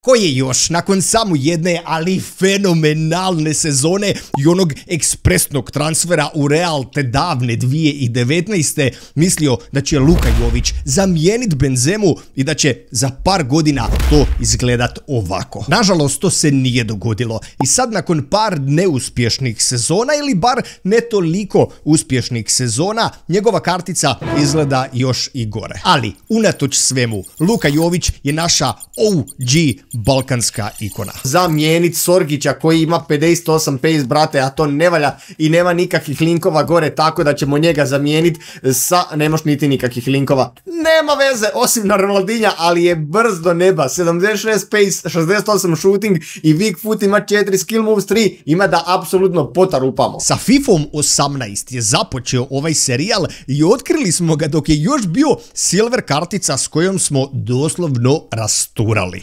Koji je još, nakon samo jedne, ali fenomenalne sezone i onog ekspresnog transfera u Real te davne 2019. mislio da će Luka Jović zamijeniti Benzemu i da će za par godina to izgledat ovako. Nažalost, to se nije dogodilo i sad nakon par neuspješnih sezona ili bar ne toliko uspješnih sezona, njegova kartica izgleda još i gore. Ali, unatoč svemu, Luka Jović je naša OG balkanska ikona. Zamijenit Sorgića koji ima 58 pace, brate, a to ne valja i nema nikakvih linkova gore, tako da ćemo njega zamijeniti sa, nemaš niti nikakvih linkova. Nema veze, osim na Ronaldinha, ali je brz do neba, 76 pace, 68 shooting i weak foot ima 4 skill moves 3, ima da apsolutno potarupamo. Sa FIFom 18 je započeo ovaj serijal i otkrili smo ga dok je još bio silver kartica s kojom smo doslovno rasturali.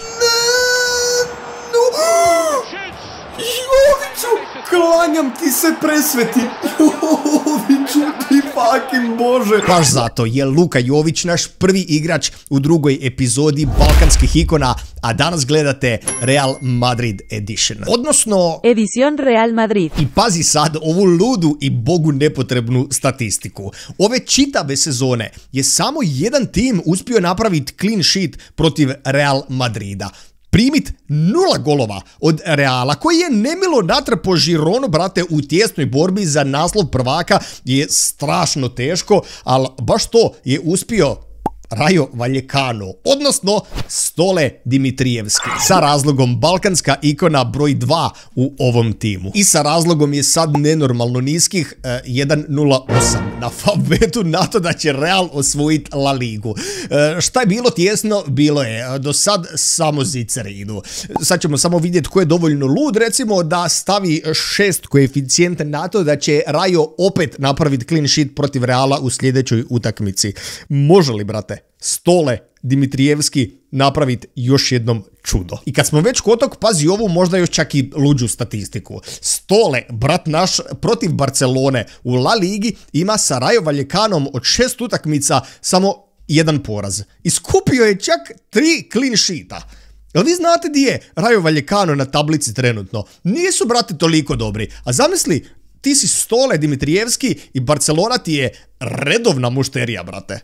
Klanjam ti se, presveti. Joviću ti fucking bože. Baš zato je Luka Jović naš prvi igrač u drugoj epizodi balkanskih ikona, a danas gledate Real Madrid Edition. Odnosno Edición Real Madrid. I pazi sad ovu ludu i bogu nepotrebnu statistiku. Ove čitave sezone je samo jedan tim uspio napraviti clean sheet protiv Real Madrida. Primit 0 golova od Reala, koji je nemilo natrpo Žironu, brate, u tijesnoj borbi za naslov prvaka je strašno teško, ali baš to je uspio Rayo Vallecano, odnosno Stole Dimitrijevski, sa razlogom balkanska ikona broj 2 u ovom timu. I sa razlogom je sad nenormalno niskih 1.08 na Favbetu na to da će Real osvojiti La Ligu. Šta je bilo tjesno? Bilo je. Do sad samo zicere idu. Sad ćemo samo vidjeti ko je dovoljno lud, recimo da stavi 6 koeficijente na to da će Rayo opet napraviti clean sheet protiv Reala u sljedećoj utakmici. Može li, brate, Stole Dimitrijevski napraviti još jednom čudo? I kad smo već kod tog, pazi ovu možda još čak i luđu statistiku. Stole, brat naš, protiv Barcelone u La Ligi ima sa Rayo Vallecanom od 6 utakmica samo 1 poraz. I skupio je čak 3 clean sheeta. Jel vi znate di je Rayo Vallecano na tablici trenutno? Nisu, brate, toliko dobri. A zamisli, ti si Stole Dimitrijevski i Barcelona ti je redovna mušterija, brate.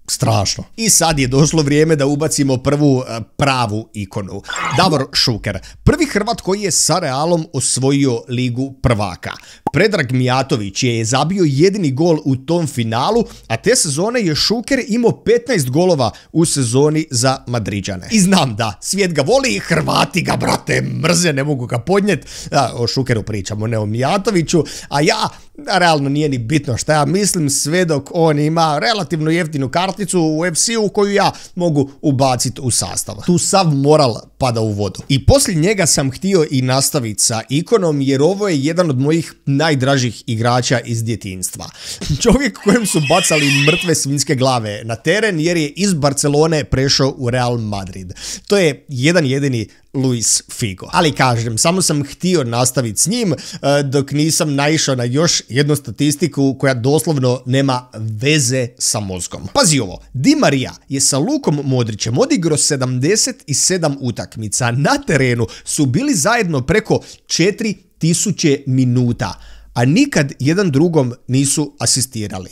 Strašno. I sad je došlo vrijeme da ubacimo prvu pravu ikonu. Davor Šuker, prvi Hrvat koji je sa Realom osvojio Ligu prvaka. Predrag Mijatović je zabio jedini gol u tom finalu, a te sezone je Šuker imao 15 golova u sezoni za Madriđane. I znam da, svijet ga voli, Hrvati ga, brate, mrze, ne mogu ga podnijeti. O Šukeru pričamo, ne o Mijatoviću, a ja, realno nije ni bitno šta ja mislim, sve dok on ima relativno jeftinu karticu u FC-u koju ja mogu ubaciti u sastav. Tu sav moral pada u vodu. I poslije njega sam htio i nastaviti sa ikonom, jer ovo je jedan od mojih najdražih igrača iz djetinjstva. Čovjek kojem su bacali mrtve svinjske glave na teren jer je iz Barcelone prešao u Real Madrid. To je jedan jedini Luis Figo. Ali kažem, samo sam htio nastaviti s njim dok nisam naišao na još jednu statistiku koja doslovno nema veze sa mozgom. Pazi ovo, Di Maria je sa Lukom Modrićem odigrao 77 utakmica. Na terenu su bili zajedno preko 4000 minuta, a nikad jedan drugom nisu asistirali.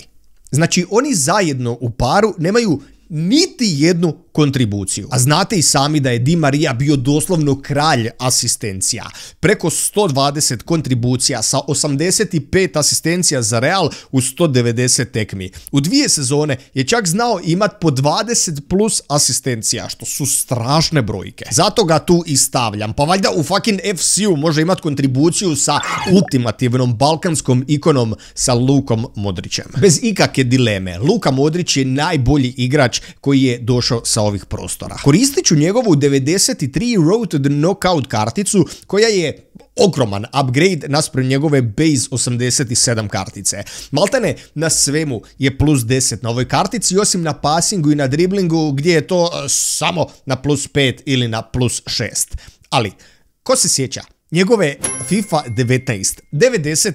Znači, oni zajedno u paru nemaju niti jednu kontribuciju. A znate i sami da je Di Maria bio doslovno kralj asistencija. Preko 120 kontribucija sa 85 asistencija za Real u 190 tekmi. U 2 sezone je čak znao imat po 20 plus asistencija, što su strašne brojke. Zato ga tu i stavljam. Pa valjda u fucking FC-u može imat kontribuciju sa ultimativnom balkanskom ikonom sa Lukom Modrićem. Bez ikakve dileme, Luka Modrić je najbolji igrač koji je došao sa ovih prostora. Koristit ću njegovu 93 Road to the Knockout karticu, koja je ogroman upgrade naspram njegove base 87 kartice. Maltene na svemu je plus 10 na ovoj kartici, osim na passingu i na driblingu gdje je to samo na plus 5 ili na plus 6. Ali, ko se sjeća njegove FIFA 19, 99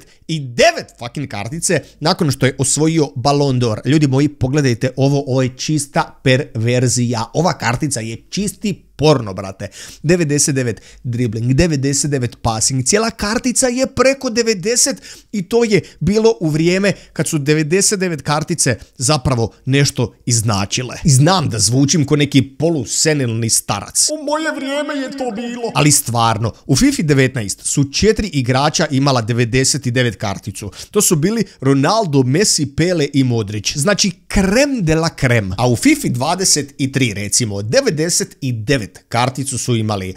fucking kartice nakon što je osvojio Ballon d'Or. Ljudi moji, pogledajte ovo je čista perverzija. Ova kartica je čisti porno, brate. 99 dribling, 99 passing, cijela kartica je preko 90 i to je bilo u vrijeme kad su 99 kartice zapravo nešto iznačile. I znam da zvučim ko neki polusenilni starac. U moje vrijeme je to bilo. Ali stvarno, u FIFA 19 su 4 igrača imala 99 karticu. To su bili Ronaldo, Messi, Pele i Modrić. Znači krem de la krem. A u FIFA 23 recimo 99 karticu su imali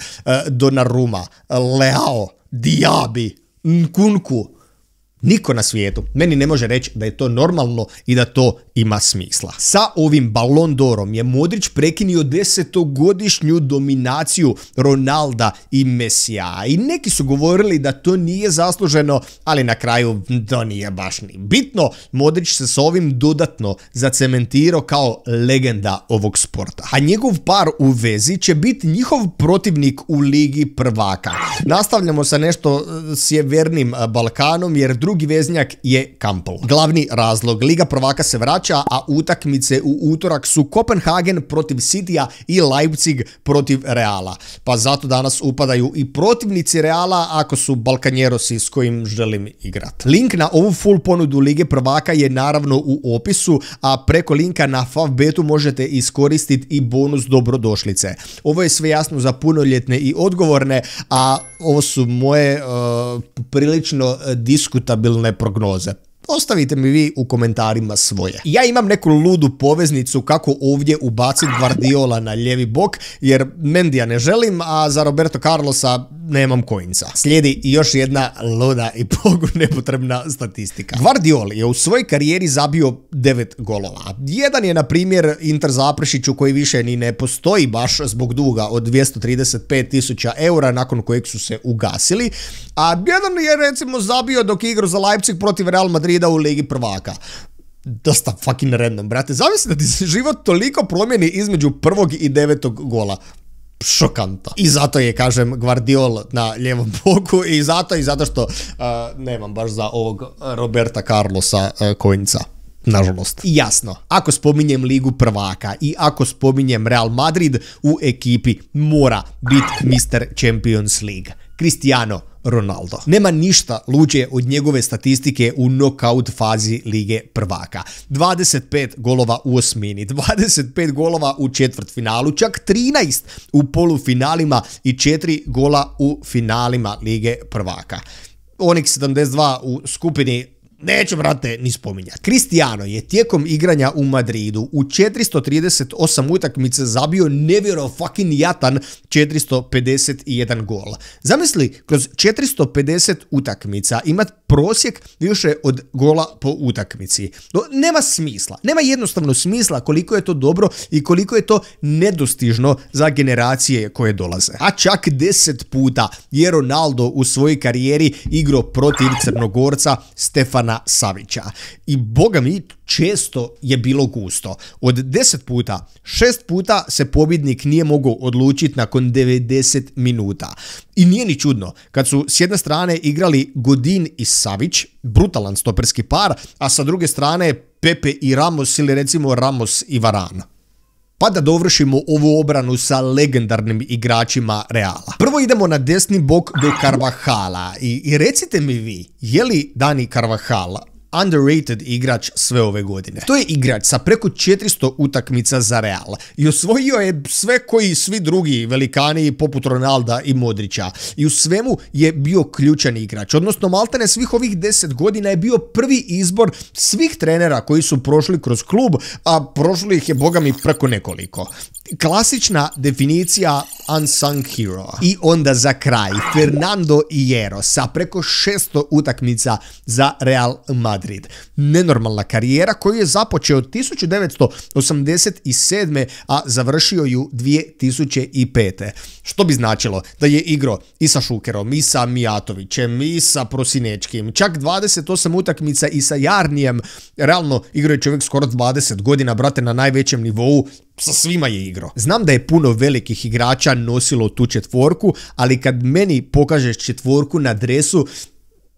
Donnarumma, Leao, Diaby, Nkunku. Niko na svijetu meni ne može reći da je to normalno i da to ima smisla. Sa ovim Ballon d'Orom je Modrić prekinio 10-godišnju dominaciju Ronalda i Messija. I neki su govorili da to nije zasluženo, ali na kraju to nije baš ni bitno. Modrić se s ovim dodatno zacementirao kao legenda ovog sporta. A njegov par u vezi će biti njihov protivnik u Ligi prvaka. Nastavljamo sa nešto sjevernim Balkanom jer drugi veznjak je Kampel. Glavni razlog, Liga prvaka se vraća, a utakmice u utorak su Kopenhagen protiv Cityja i Leipzig protiv Reala. Pa zato danas upadaju i protivnici Reala ako su Balkanjerosi s kojim želim igrati. Link na ovu full ponudu Lige prvaka je naravno u opisu, a preko linka na Favbetu možete iskoristiti i bonus dobrodošlice. Ovo je sve jasno za punoljetne i odgovorne, a ovo su moje prilično diskutabilne prognoze. Ostavite mi vi u komentarima svoje. Ja imam neku ludu poveznicu kako ovdje ubaciti Guardiola na lijevi bok, jer Mendija ne želim, a za Roberto Carlosa nemam coinsa. Slijedi još jedna luda i Bogu nepotrebna statistika. Guardiola je u svojoj karijeri zabio 9 golova. Jedan je, na primjer, Inter Zaprešiću koji više ni ne postoji baš zbog duga od 235.000 eura nakon kojeg su se ugasili, a jedan je recimo zabio dok je igrao za Leipzig protiv Real Madrida u Ligi prvaka. Dosta fucking random, brate. Zamisli da ti se život toliko promijeni između prvog i 9. gola. Šokantno. I zato je, kažem, Guardiola na lijevom boku i zato što nemam baš za ovog Roberta Carlosa coinca. Nažalost. I jasno, ako spominjem Ligu prvaka i ako spominjem Real Madrid, u ekipi mora biti Mr. Champions League. Cristiano Ronaldo. Nema ništa luđe od njegove statistike u knockout fazi Lige prvaka. 25 golova u osmini, 25 golova u četvrtfinalu, čak 13 u polufinalima i 4 gola u finalima Lige prvaka. Onih 72 u skupini neću, brate, ni spominjati. Cristiano je tijekom igranja u Madridu u 438 utakmica zabio nevjerojatan 451 gol. Zamisli, kroz 450 utakmica imat prosjek više od gola po utakmici. No, nema smisla. Nema jednostavno smisla koliko je to dobro i koliko je to nedostižno za generacije koje dolaze. A čak 10 puta je Ronaldo u svojoj karijeri igrao protiv Crnogorca Stefana Savića. I boga mi, često je bilo gusto. Od 10 puta, 6 puta se pobjednik nije mogao odlučiti nakon 90 minuta. I nije ni čudno, kad su s jedne strane igrali Godin i Savić, brutalan stoperski par, a sa druge strane Pepe i Ramos ili recimo Ramos i Varane. Pa da dovršimo ovu obranu sa legendarnim igračima Reala. Prvo idemo na desni bok do Carvahala i recite mi vi, je li Dani Carvajal underrated igrač sve ove godine? To je igrač sa preko 400 utakmica za Real i osvojio je sve koji svi drugi velikani poput Ronalda i Modrića. I u svemu je bio ključan igrač, odnosno maltene svih ovih 10 godina je bio prvi izbor svih trenera koji su prošli kroz klub, a prošli ih je boga mi preko nekoliko. Klasična definicija unsung hero. I onda za kraj Fernando Hierro sa preko 600 utakmica za Real Madrid. Nenormalna karijera koju je započeo 1987. a završio ju 2005. Što bi značilo da je igrao i sa Šukerom, i sa Mijatovićem, i sa Prosinečkim, čak 28 utakmica i sa Jarnijem. Realno igrao je čovjek skoro 20 godina, brate, na najvećem nivou. Sa svima je igrao. Znam da je puno velikih igrača nosilo tu četvorku, ali kad meni pokažeš četvorku na dresu,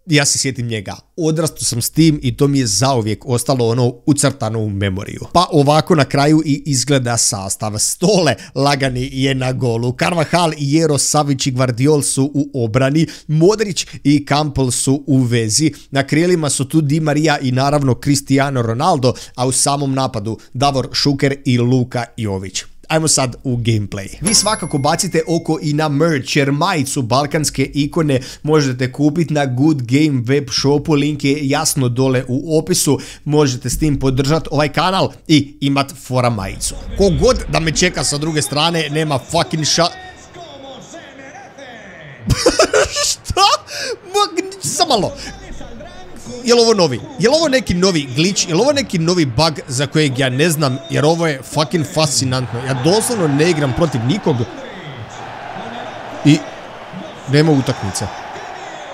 Ja se sjetim njega, odrastao sam s tim i to mi je zauvijek ostalo ono ucrtano u memoriju. Pa ovako na kraju i izgleda sastav. Stole lagani je na golu, Carvajal, Hierro, Savić i Gvardiol su u obrani, Modrić i Campbell su u vezi, na krilima su tu Di Maria i naravno Cristiano Ronaldo, a u samom napadu Davor Šuker i Luka Jović. Ajmo sad u gameplay. Vi svakako bacite oko i na merch, jer majicu Balkanske ikone možete kupiti na Good Game web shopu, link je jasno dole u opisu, možete s tim podržati ovaj kanal i imat fora majicu. Kogod da me čeka sa druge strane, nema fucking Šta? Samo malo. Jel ovo novi? Jel ovo neki novi glitch? Jel ovo neki novi bug za kojeg ja ne znam? Jer ovo je fucking fascinantno. Ja doslovno ne igram protiv nikog. I nema utakmice.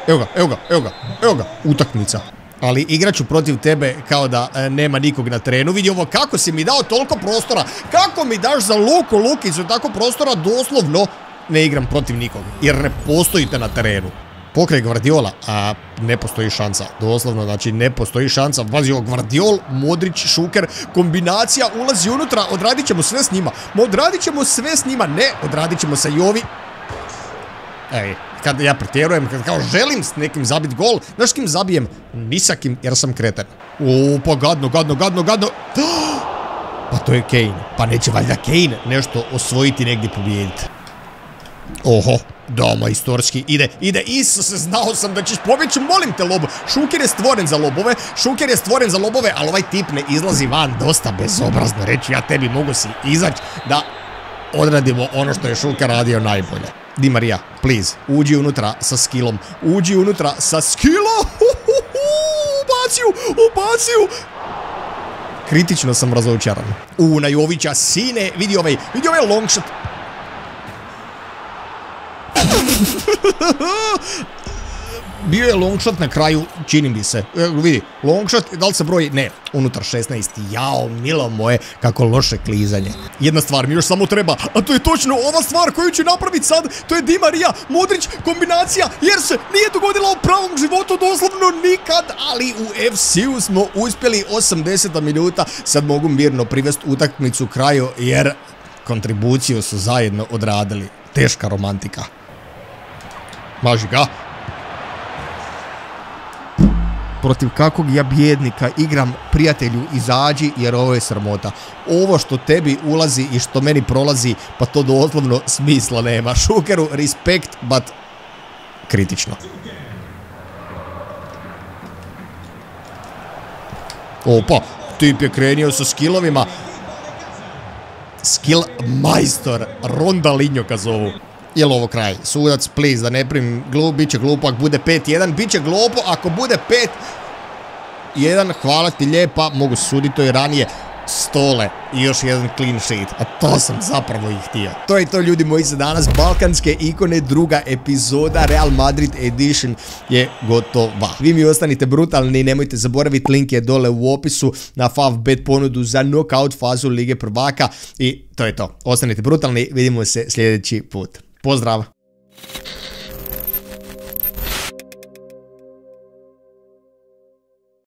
Evo ga, utakmica. Ali igraću protiv tebe kao da nema nikog na terenu. Vidi ovo, kako si mi dao toliko prostora. Kako mi daš za Lukicu tako prostora, doslovno ne igram protiv nikog. Jer ne postojite na terenu. Pokraj Gvardiola, a ne postoji šansa, doslovno, znači ne postoji šansa. Vazi ovo Gvardiol, Modrić, Šuker, kombinacija, ulazi unutra, odradit ćemo sve s njima, ne, odradit ćemo sa Jovi. Ej, kad ja pretjerujem, kad kao želim s nekim zabiti gol, znaš s kim zabijem? Ni sa kim, jer sam kreten. O, pa gadno. Pa to je Kane, pa neće valjda Kane nešto osvojiti, negdje pobijediti. Oho, da, majstorski, ide, Isuse, znao sam da ćeš pobjeći, molim te lobo. Šuker je stvoren za lobove, ali ovaj tip ne izlazi van, dosta bezobrazno reći, ja tebi mogu si izaći da odradimo ono što je Šuker radio najbolje. Di Maria, please, uđi unutra sa skillom, ubaciju. Kritično sam razočaran. Na Jovića, sine, vidi ovaj long shot. Bio je long shot na kraju, čini mi se. Vidi, long shot, da li se broji? Ne, unutar 16. Jao, milo moje, kako loše klizanje. Jedna stvar mi još samo treba, a to je točno ova stvar koju ću napraviti sad. To je Di Maria, Modrić, kombinacija, jer se nije dogodila u pravom životu doslovno nikad, ali u FC-u smo uspjeli 80 minuta. Sad mogu mirno privesti utakmicu kraju, jer kontribuciju su zajedno odradili. Teška romantika. Maži ga. Protiv kakvog ja bijednika igram, prijatelju, izađi, jer ovo je sramota. Ovo što tebi ulazi i što meni prolazi, pa to doslovno smisla nema. Šukeru, respekt, but kritično. Opa, tip je krenio sa skillovima. Skill majstor, Rondalinho ka zovu. Jel ovo kraj? Sudac, please, da ne primim glup, bit će glupo ako bude 5-1, bit će glupo ako bude 5-1, hvala ti lijepa, mogu suditi to i ranije. Stole i još jedan clean sheet, a to sam zapravo i htio. To je to, ljudi moji, za danas. Balkanske ikone, druga epizoda, Real Madrid Edition je gotova. Vi mi ostanite brutalni, nemojte zaboraviti, link je dole u opisu na Favbet ponudu za knockout fazu Lige prvaka i to je to. Ostanite brutalni, vidimo se sljedeći put. Pozdrav!